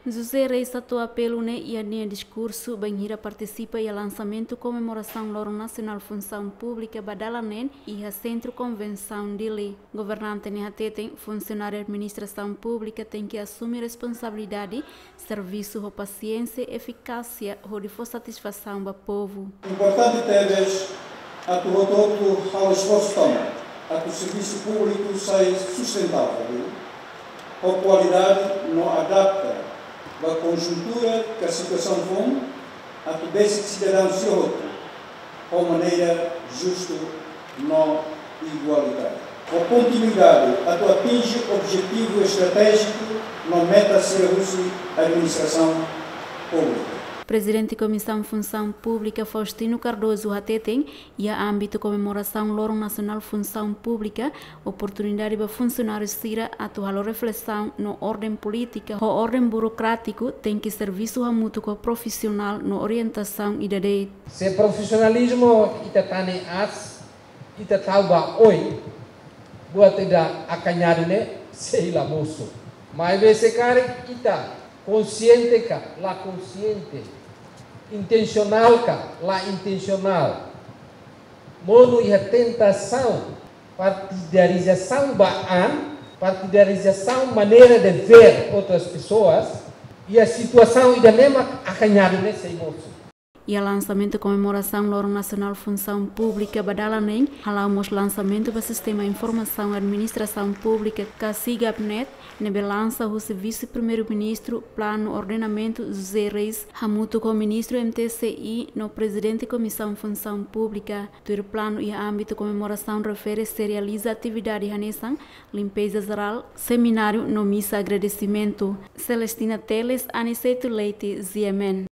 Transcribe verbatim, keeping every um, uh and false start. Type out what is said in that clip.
José Reis hato'o apelu ne'e iha nia diskursu bainhira partisipa iha lansamentu komemorasaun Loron Nasionál Funsaun Públika ba dala neen iha Sentru Konvensaun Dili. Governante ne'e hateten funsionáriu administrasaun públika tenke asume responsabilidade, servisu ho pasiénsia, efikásia hodi fó satisfasaun ba povu. Importante tebes atu hotu-hotu halo esforsu tomak atu servisu públiku sai sustentável ho kualidade no adapta ba konjuntura ka situasaun foun, atu besik sidadaun sira hotu ho maneira justu no igualitáriu. Ho kontinuidade atu atinje objetivu estratéjiku no meta sira husi administrasaun públika. Prezidente Komisaun Funsaun Públika Faustino Cardoso hateten, iha ámbitu komemorasaun Loron Nasionál Funsaun Públika, oportunidade ba funsionáriu sira atu halo reflesaun no orden polítika ho orden burokrátiku tenke servisu hamutuk ho profisionál no orientasaun ida de'it. Se profisionalizmu ita tane aas, ita tau ba oin, buat ida akañadu ne'e sei la mosu. Maibé se karik ita konsiente ka la konsiente, intensionál ka la intensionál, monu iha tentasaun partidarizasaun ba an, partidarizasaun maneira de ver outras pessoas, iha situasaun ida ne'e mak akañadu ne'e sei mosu. Iha lansamentu komemorasaun Loron Nasionál Funsaun Públika ba dala neen, hala'o mós lansamentu ba sistema informasaun administrasaun públika ka SIGAPnet, ne'ebé lansa husi Vise-Primeiru-Ministru Planu Ordenamentu José Reis, hamutuk ho Ministru M T C I no Prezidente Komisaun Funsaun Públika. Tuir planu iha ámbitu komemorasaun refere sei realiza atividade hanesan limpeza jerál, semináriu no misa agradesimentu. Celestina Teles, Aniceto Leite, G M N.